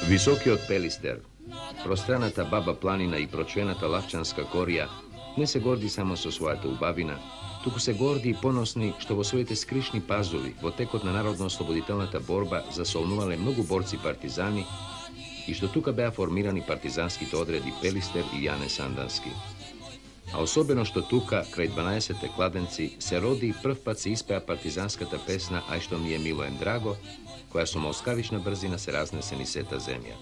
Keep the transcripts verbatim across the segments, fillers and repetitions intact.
Високиот Пелистер, пространата Баба планина и прочвената Лавчанска корија не се горди само со својата убавина, туку се горди и поносни што во своите скришни пазови во текот на народно-ослободителната борба засолнувале многу борци партизани и што тука беа формирани партизанските одреди Пелистер и Јане Сандански. А особено што тука, крај дванаесетте кладенци, се роди и прв пат се испеа партизанската песна «Ај што ми е мило ем драго», која со молскавична брзина се разнесе низ сета земја.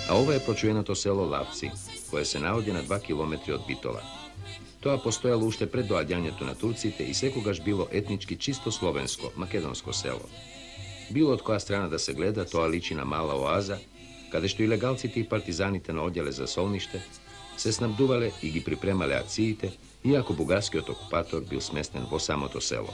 А ова е прочуеното село Лавци, кое се наоѓа на два километри од Битола. Тоа постоело уште пред доаѓањето на турците и секогаш било етнички чисто словенско, македонско село. Било од која страна да се гледа, тоа личи на мала оаза, каде што и легалците и партизаните наоѓале за солниште, се снабдувале и ги припремале акциите, иако бугарскиот окупатор бил сместен во самото село.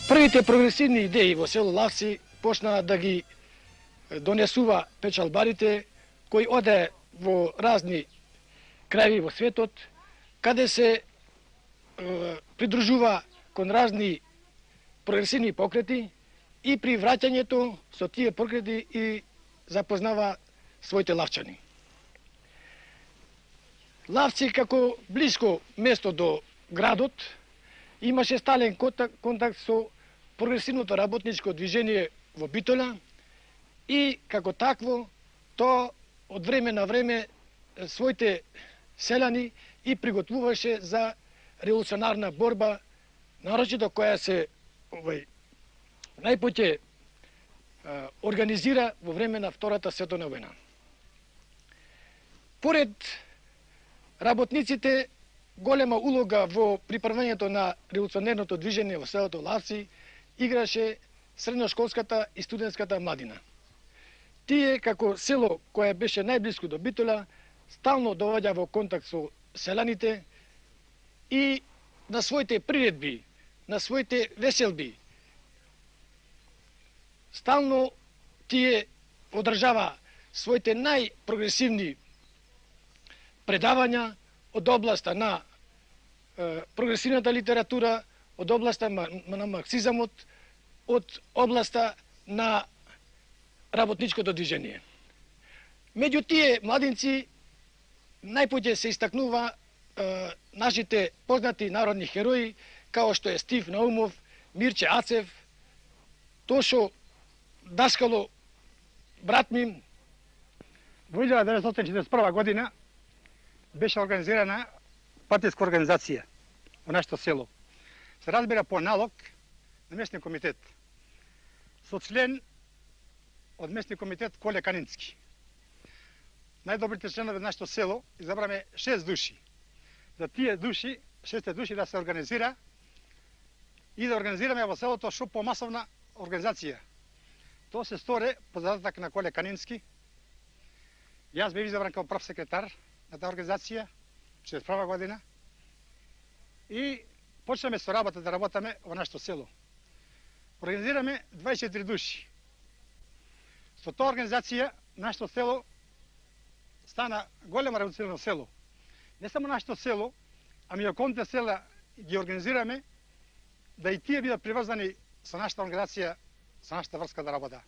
Првите прогресивни идеи во село Лавци почнаа да ги донесува печалбарите, кои оде во разни крајви во светот, каде се е, придружува кон разни прогресивни покрети и при враќањето со тие покрети и запознава своите лавчани. Лавци како блиско место до градот имаше стален контакт, контакт со прогресивното работничко движење во Битола и како такво то од време на време своите селани и приготвуваше за револуционарна борба, нарочито која се овај најпоќе организира во време на Втората световна војна. Поред работниците, голема улога во приправањето на револуционерното движење во селото Лавци играше средношколската и студентската младина. Тие, како село кое беше најблиско до Битола, стално доваѓа во контакт со селаните и на своите приредби, на своите веселби, стално тие одржава своите најпрогресивни предавања од областа на е, прогресивната литература, од областа на марксизамот, од областа на работничкото движење. Меѓу тие младинци најпоќе се истакнува е, нашите познати народни херои, као што е Стив Наумов, Мирче Ацев, Тошо Даскало, брат ми. Во илјада деветстотини четиридесет и прва година беше организирана партиска организација во нашето село. Се разбира по налог на местни комитет. Со член од местни комитет Коле Канински. Најдобрите членови на нашето село избраме шест души. За тие души, шесте души да се организира и да организираме во селото што помасовна организација. Тоа се сторе по задаток на Коле Канински. Јас бев избран како прв секретар на таа организација, четиридесет и прва година. И почнеме со работа да работаме во нашето село. Организираме дваесет и четири души. Со таа организација нашето село стана големо револуционерно село. Не само нашето село, ами и околните села ги организираме да и тие бидат приврзани со нашата организација, со нашата врска да работа.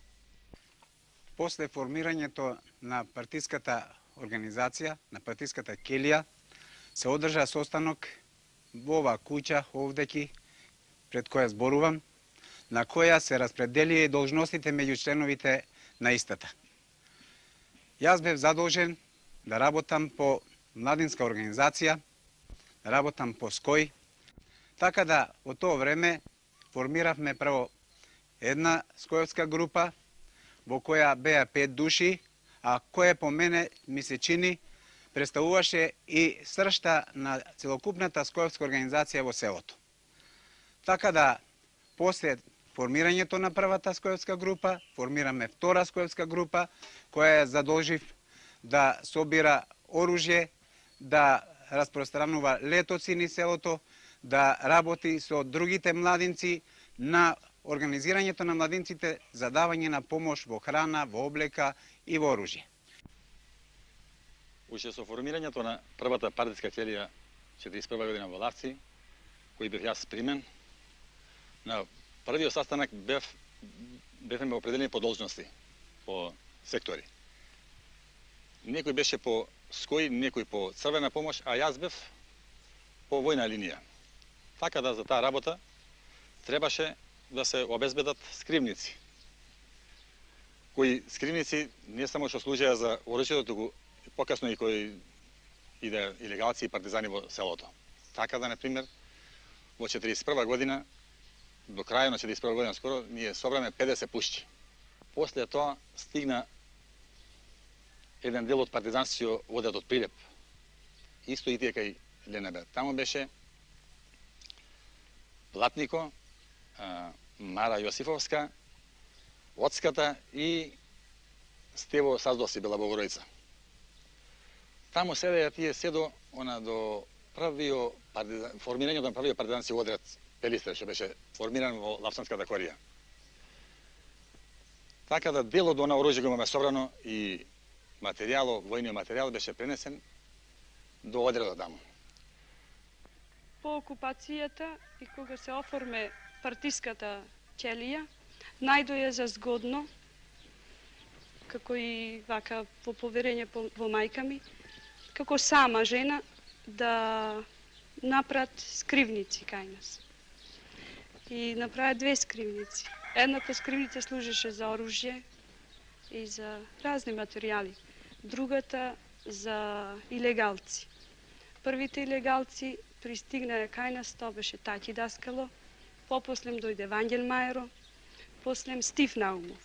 После формирањето на партиската организација, на партиската келија, се одржа состанок во оваа куќа овдеки, пред која зборувам, на која се распределија должностите меѓу членовите на истата. Јас бев задолжен да работам по младинска организација, да работам по СКОј, така да во тоа време формиравме прво една скојовска група, во која беа пет души, а која по мене ми се чини представуваше и сршта на целокупната скојовска организација во селото. Така да, после формирањето на првата скојовска група, формираме втора скојовска група, која ја задолжив да собира оружје, да распространува летоци низ селото, да работи со другите младинци на организирањето на младинците за давање на помош во храна, во облека и во оружје. Уште со формирањето на првата партиска ќелија четириесет и прва година во Лавци, кој бев јас примен, на првиот састанак бев бевме определени по должности, по сектори. Некој беше по ској, некој по црвена помош, а јас бев по војна линија. Така да за таа работа требаше да се обезбедат скривници. Кои скривници не само што служеа за оружјето, туку покасно и кои иде илегалци и партизани во селото. Така да, например, во четириесет и прва година, до крајот на четириесет и прва година скоро, ние собраме педесет пушчи. После тоа стигна еден дел од партизанци одат од Прилеп. Исто и тие кај Ленебе. Таму беше Платнико, Мара Јосифовска, Оцката и Стево Саздоси бела Богородица. Таму седеја тие седо она до првиот партизан, формирањето на првиот партизански одред Пелистер, што беше формиран во Лапсанската корија. Така да делот на оружје го имаме собрано и материјалот, војниот материјал беше пренесен до одредот таму. По окупацијата и кога се оформе партиската ќелија, најдоја за згодно, како и вака по поверење во мајка ми, како сама жена да направат скривници кај нас. И направат две скривници. Едната скривница служеше за оружје и за разни материјали. Другата за илегалци. Првите илегалци пристигнале кај нас, тоа беше Таќи Даскало, попослем дојде Вангел Мајро, послем Стив Наумов.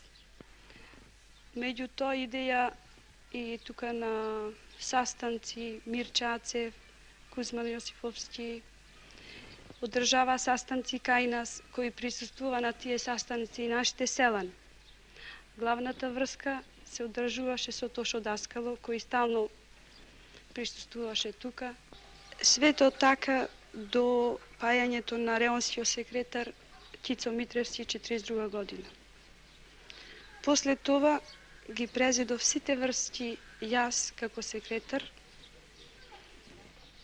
Меѓу тоа идеја и тука на састанци Мирча Ацев, Кузман Јосифовски, одржава састанци кај нас, кои присуствува на тие састанци и нашите селани. Главната врска се одржуваше со Тошо Даскало, кој стално присуствуваше тука. Свето така до пајањето на реонскиот секретар Кицо Митревски четириесет и друга година. После това ги презедов сите врски јас како секретар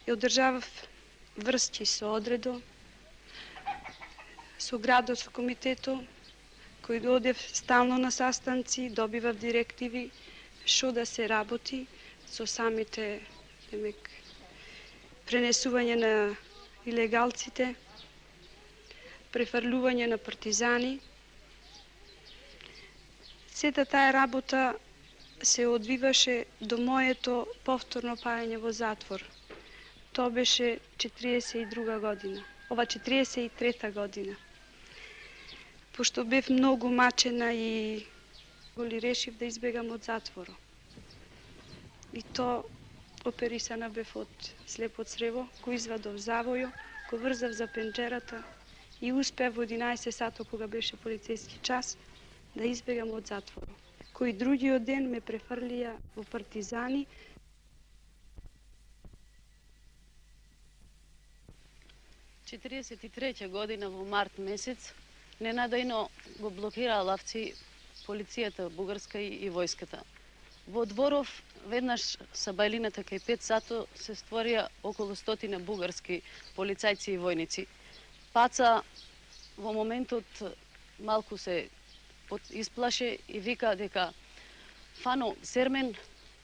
и одржавав врски со одредо, со градот, со комитето, кој доодев стално на састанци, добивав директиви што да се работи со самите, демек, пренесување на илегалците, префрлување на партизани. Сета таа работа се одвиваше до моето повторно паѓање во затвор. Тоа беше четириесет и друга година, ова четириесет и трета година. Пошто бев многу мачена и голи решив да избегам од затворот. И то оперисана бев од слепо црево, кој извадов завојо, кој врзав за пенџерата и успеав во единаесет сато, кога беше полицејски час, да избегам од затворот. Кој другиот ден ме префрлија во партизани. четириесет и трета година во март месец ненадејно го блокираа Лавци полицијата бугарска и војската. Во дворов веднаш са бајлината кај пет сато се створија околу стотина бугарски полицајци и војници. Паца во моментот малку се исплаше и вика дека Фано, Сермен,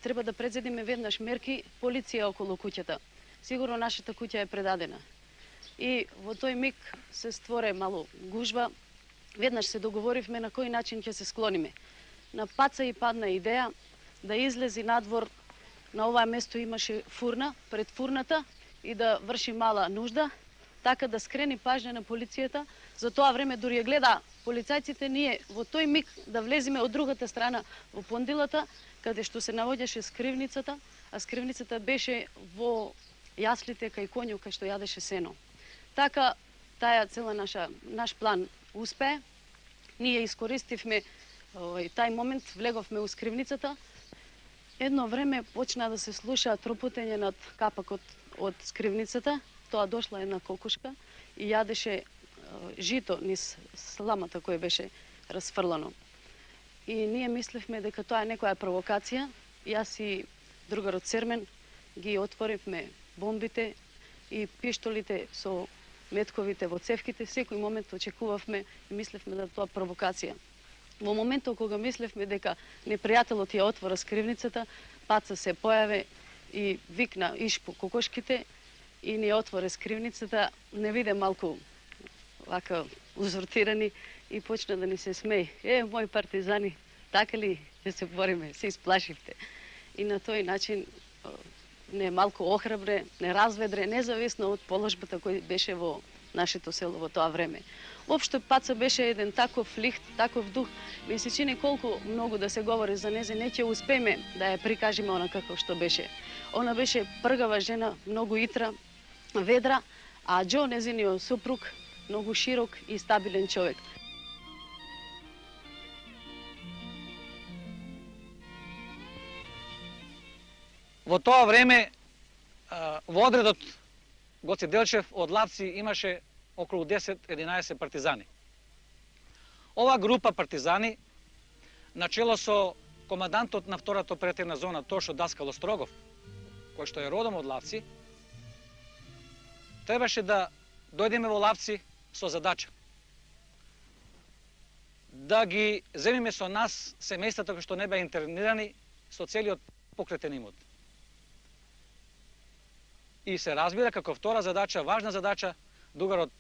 треба да предзедиме веднаш мерки, полиција околу куќата. Сигурно нашата куќа е предадена. И во тој миг се створе мало гужва. Веднаш се договоривме на кој начин ќе се склониме. На Паца и падна идеја да излези надвор. На оваа место имаше фурна, пред фурната, и да врши мала нужда, така да скрени пажња на полицијата. За тоа време дури ја гледа полицајците ние во тој миг да влеземе од другата страна во пондилата, каде што се наоѓаше скривницата, а скривницата беше во јаслите кај конјот кај што јадеше сено. Така, таја цела наша, наш план успее. Ние искористивме овој, тај момент, влеговме у скривницата. Едно време почна да се слуша тропутење над капакот од скривницата. тоа дошла една кокушка и јадеше жито низ сламата која беше расфрлано. И ние мислевме дека тоа е некоја провокација. Јас и другарот Сермен ги отворивме бомбите и пиштолите со метковите во цевките. Секој момент очекувавме и мислевме да тоа провокација. Во моментот кога мислевме дека непријателот ја отвора скривницата, Паца се појаве и викна иш по кокошките и ни отвори скривницата, не виде малку вака узуртирани и почна да ни се смеи. Е, мои партизани, така ли да се бориме, се исплашивте. И на тој начин не малку охрабре, не разведре, независно од положбата кој беше во нашето село во тоа време. Воопшто Паца беше еден таков лихт, таков дух, ми се чини колку многу да се говори за незе, не ќе успееме да ја прикажеме она како што беше. Она беше пргава жена, многу итра, ведра, а Џо, незиниот супруг, многу широк и стабилен човек. Во тоа време во одредот Гоце Делчев од Лапци имаше околу десет-единаесет партизани. Ова група партизани, начело со командантот на втората оперативна зона Тошо Даскало Строгов, кој што е родом од Лапци, требаше да дојдеме во Лапци со задача да ги земиме со нас семејствата кои што не беа интернирани со целиот покретен имот. И се разбира како втора задача, важна задача, другарот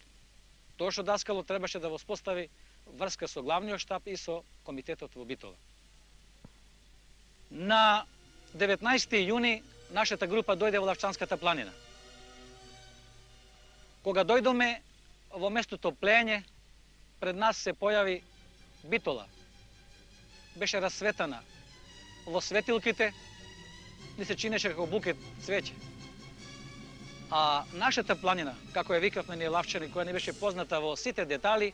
Тошо Даскало требаше да воспостави врска со главниот штаб и со комитетот во Битола. На деветнаесети јуни нашата група дојде во Лавчанската планина. Кога дојдоме во местото Плење, пред нас се појави Битола. Беше расветана во светилките, ни се чинеше како букет цвеќе. А нашата планина, како ја викавме ние Лавчани, која не беше позната во сите детали,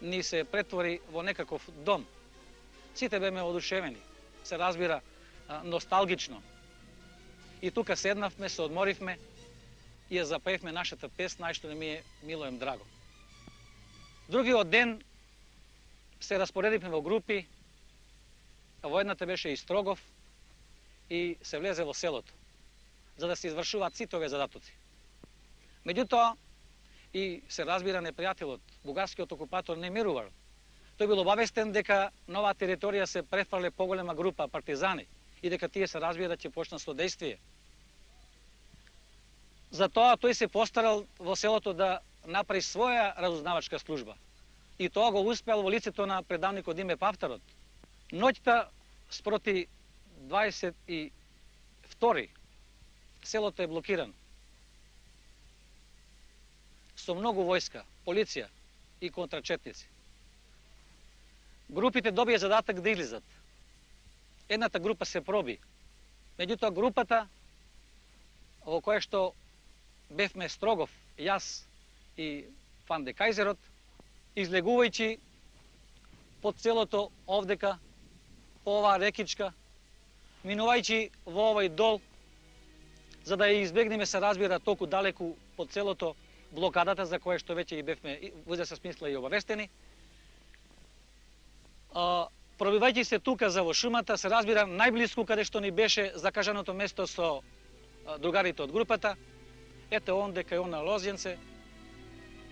ни се претвори во некаков дом. Сите беме одушевени, се разбира носталгично. И тука седнавме, се одморивме и ја запеевме нашата песна, што не ми е мило им драго. Другиот ден се распоредивме во групи, во едната беше и Строгов и се влезе во селото, за да се извршуваат сите овие задатоци. Меѓутоа, и се разбира непријателот, бугарскиот окупатор не мирувал. Тој бил обавестен дека на оваа територија се префрле поголема група партизани и дека тие се разбира ќе почнат со действие. Затоа тој се постарал во селото да направи своја разузнавачка служба. И тоа го успеал во лицето на предавникот Диме Павтарот. Ноќта спроти дваесет и втори селото е блокирано. Со многу војска, полиција и контрачетници. Групите добија задаток да излизат. Едната група се проби. Меѓутоа групата во која што бевме Строгов, јас и Фан де Кајзерот, излегувајќи по целото овдека, по оваа рекичка, минувајќи во овој дол, за да ја избегнеме, се разбира, толку далеку по целото блокадата, за која што веќе и бевме во известна смисла и обавестени. Пробивајќи се тука за во шумата, се разбира, најблиску каде што ни беше закажаното место со другарите од групата, ете онде кај она лозјенце,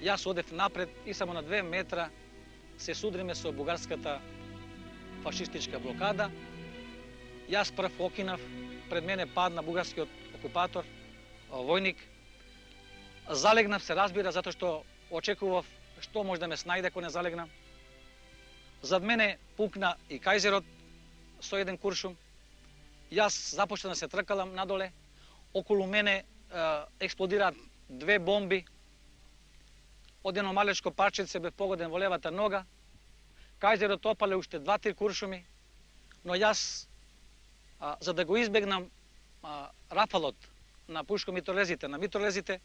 јас одев напред и само на две метра се судриме со бугарската фашистичка блокада. Јас прв окинав, пред мене падна бугарскиот окупатор, војник. Залегнав, се разбира, затоа што очекував што може да ме снајде ако не залегнам. Зад мене пукна и Кајзерот со еден куршум. Јас започна да се тркалам надоле. Околу мене е, експлодираат две бомби. Од едно малечко парченце бев погоден во левата нога. Кајзерот опале уште два-три куршуми, но јас, а, за да го избегнам а, рафалот на пушко-митролезите, на митролезите,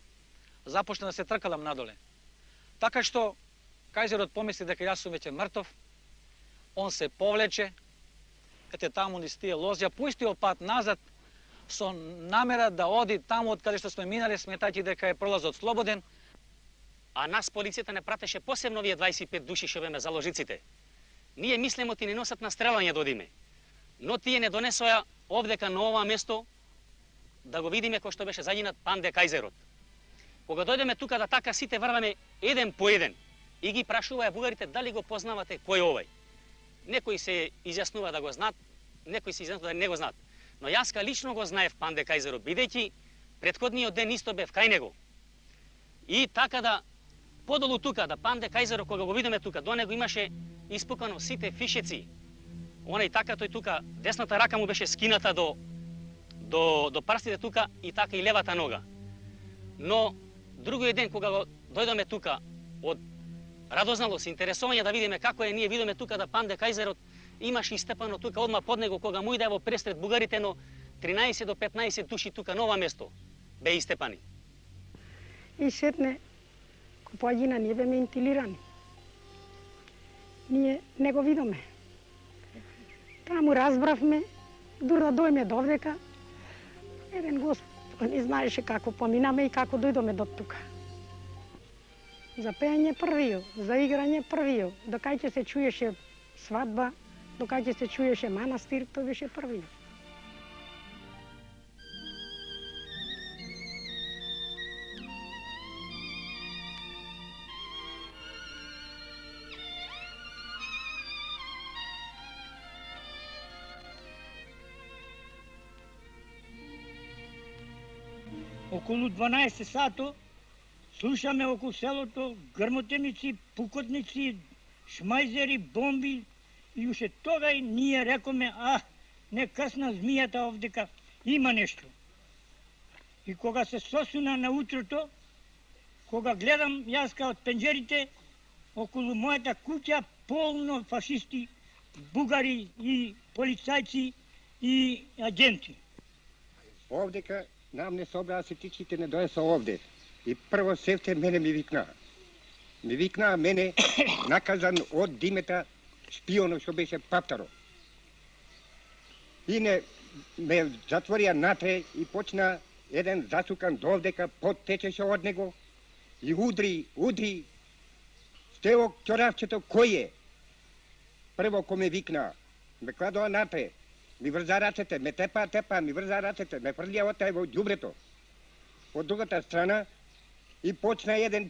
започна да се тркалам надоле. Така што Кајзерот помисли дека јас сум веќе мртов, он се повлече, ете таму низ тие лозја, по истиот пат назад, со намера да оди таму од каде што сме минале, сметајќи дека е пролазот слободен. А нас полицијата не пратеше посебно овие дваесет и пет души што беме заложниците. Ние мислимо ти не носат на стрелање да одиме. Но тие не донесоа овдека на ова место да го видиме кој што беше загинат Панде Кајзерот. Кога дојдеме тука да така сите врваме еден по еден и ги прашуваа бугарите дали го познавате кој е овај. Некои се изјаснува да го знаат, некои се изјаснува да не го знаат. Но јас лично го знаев Панде Кајзерот, бидејќи претходниот ден исто бев кај него. И така да подолу тука, да Панде Кајзерот, кога го видиме тука, до него имаше испукано сите фишеци. Онај така тој тука, десната рака му беше скината до до до прстите тука и така и левата нога. Но другиот ден кога го дојдоме тука од радозналост, интересување да видиме како е, ние видиме тука да Панде Кајзерот имаше истепано тука одма под него кога му иде во пресред бугарите, но тринаесет до петнаесет души тука на ова место бе истепани. И сетне купоаѓина ние беме интилирани. Ние не го видоме. Таму разбравме, дур да дојме довдека, еден Господ не знаеше како поминаме и како дојдоме до тука. За пење првио, за играње првио, докај ќе се чуеше свадба, докај ќе се чуеше манастир, тој беше првио. Околу дванаесет сато слушаме околу селото грмотеници, пукотници, шмајзери, бомби и уште тогај ние рекоме, а, не късна змијата овдека, има нешто. И кога се сосуна на утрото, кога гледам јаска од пенџерите, околу мојата куќа полно фашисти, бугари и полицајци и агенти. Овдека нам не собраа сетичките, не доеса овде. И прво севте мене ми викнаа. Ми викнаа мене наказан од Димета шпионот што беше Паптаро. И не ме затворија натре и почна еден засукан довдека, пот течеше од него и удри, удри. Стево ќоравчето кој е? Прво кој ме викнаа, ме кладоа натре. Ми врза рацете, ме тепа, тепа, ми врза рацете, ме фрлија отај во ѓубрето. Од другата страна и почна еден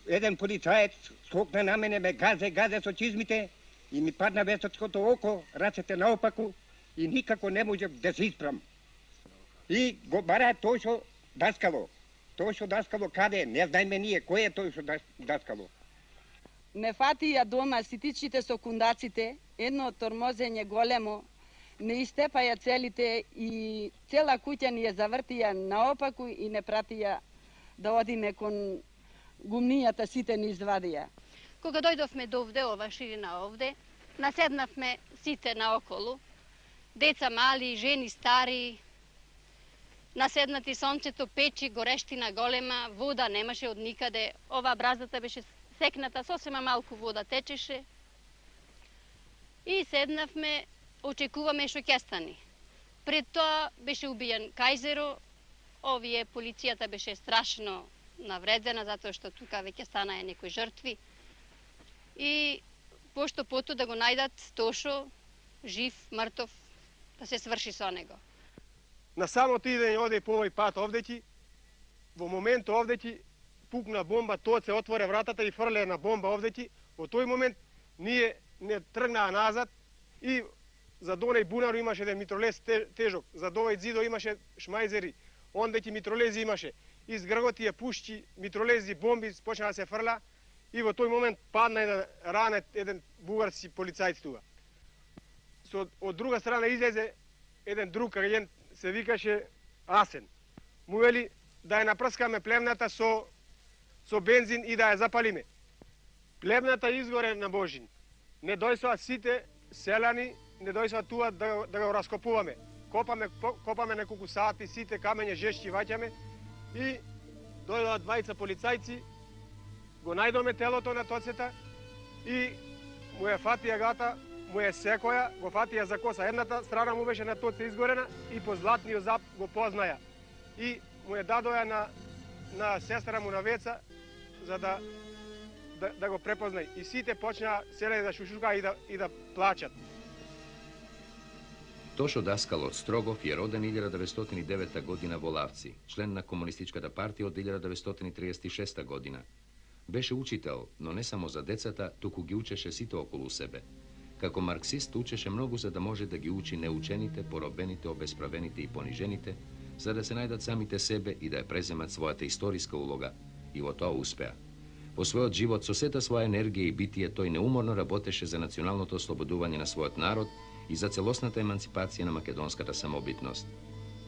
еден полицаец скокна на мене, ме газе, газе со чизмите и ми падна весочкото око, рацете наопаку и никако не можев да се испрам. И го бара тој што даскало. Тој што даскало каде? Не знаеме ние кој е тој што даскало. Ме фатија дома ситичите со кундаците, едно тормозење големо, не истепаја целите и цела куќа ни ја завртија наопаку и не пратија да одиме кон гумнијата, сите ни извадија. Кога дојдовме до овде, ова ширина овде, наседнавме сите наоколу, деца мали, жени стари, наседнати сонцето, печи, горештина голема, вода немаше од никаде, ова бразата беше секната, сосема малку вода течеше. И седнавме, очекуваме што ќе стане. Пред тоа беше убиен Кајзеро, овие полицијата беше страшно навредена, затоа што тука веќе станаа некои жртви. И пошто пото да го најдат Тошо, жив, мртов, да се сврши со него. На самото идење оде по овој пат овдеки, во момент овдеки пукна бомба, тоа се отворе вратата и фрле една бомба овдеки. Во тој момент ние не тргнаа назад и за донај бунару имаше еден митролез тежок, за довај зидо имаше шмајзери, ондеки митролези имаше. Из грготија пушки, митролези, бомби почна да се фрла и во тој момент падна еден ранет, еден бугарски полицајц тука. Со, од друга страна излезе еден друг агент, се викаше Асен. Му вели да ја напрскаме плевната со, со бензин и да ја запалиме. Плевната изгоре на Божин. Не дојсоа сите селани, не дојсоа туа да, да го раскопуваме. Копаме, копаме неколку сати, сите камења жешки ваќаме и дојдоа двајца полицајци, го најдоме телото на Тоцета и му ја фатија гата му е секоја, го фатија за коса. Едната страна му беше на тоце изгорена и по златниот зап го познаја. И му е дадоја на, на сестра му на Веца, за да, да, да го препознај. И сите почнаа селе да шушука и да, и да плачат. Тошо Даскал од Строгов е роден илјада деветстотини и девета година во Лавци, член на Комунистичката партија од илјада деветстотини триесет и шеста година. Беше учител, но не само за децата, туку ги учеше сите околу себе. Како марксист учеше многу за да може да ги учи неучените, поробените, обесправените и понижените, за да се најдат самите себе и да ја преземат својата историска улога. И во тоа успеа. Во својот живот со сета своја енергија и битие тој неуморно работеше за националното ослободување на својот народ и за целосната емансипација на македонската самобитност.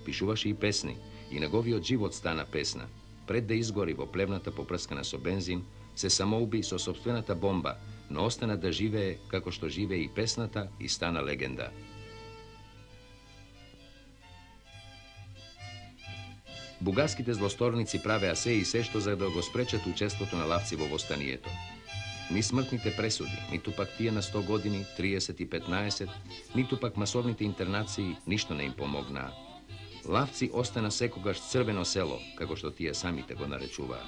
Пишуваше и песни, и неговиот живот стана песна. Пред да изгори во плевната попрскана со бензин, се самоуби со сопствената бомба, но остана да живее како што живее и песната и стана легенда. Бугарските злосторници правеа се и се што за да го спречат учеството на Лавци во востанието. Ни смртните пресуди, ниту пак тие на сто години, триесет и петнаесет, ниту пак масовните интернации ништо не им помогнаа. Лавци остана секогаш црвено село, како што тие самите го наречуваа.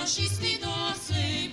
Fašisti da se